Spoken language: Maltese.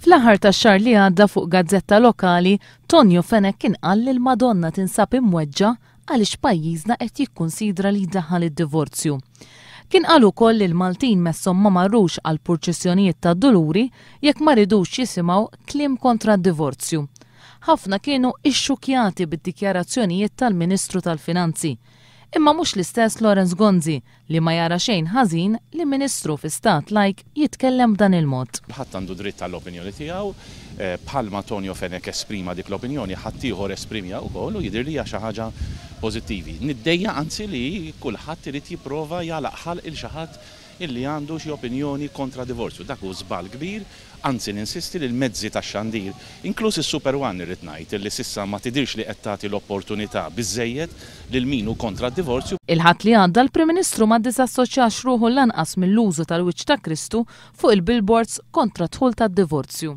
Fl-aħħar tax-xahar li għadda fuq gazzetta lokali, Tonio Fenech kien qal li l-Madonna tinsab imweġġa' għaliex pajjiżna qed jikkunsidra li jdaħħal id-divorzju. Kien qal ukoll li l-Maltin messhom ma marrux għall-purċissjonijiet tad-Duluri jekk ma ridux jisimgħu kliem kontra d-divorzju. Ħafna kienu ixxukkjati bid-dikjarazzjonijiet tal-Ministru tal-Finanzi. Imma mhux l-istess Lawrence Gonzi li ma jara xejn ħażin li Ministru fi stat lajk jitkellem b'dan il-mod. Ħadd għandu dritt għall-opinjoni tiegħu. Bħalma Tonio Fenech esprima dik l-opinjoni, ħaddieħor esprimiha wkoll u jidhirli hija xi ħaġa pożittivi. Niddejjaq anzi li kulħadd irid jipprova jagħlaq ħalq il xi ħadd illi għandu xi opinjoni kontra divorzju. Dak hu żball kbir. Anzi ninsisti li l-mezzi tax-xandir, inkluż is-Super One irrid ngħid illi s'issa ma tidhirx li qed tagħti l-opportunità biżżejjed lil min hu kontra d-divorzju. Il-Ħadd li għadda l-Prim Ministru ma ddiżassoċjax ruħu lanqas mill-użu tal-wiċċ ta' Kristu fuq il-billboards kontra d-dħul tad-divorzju.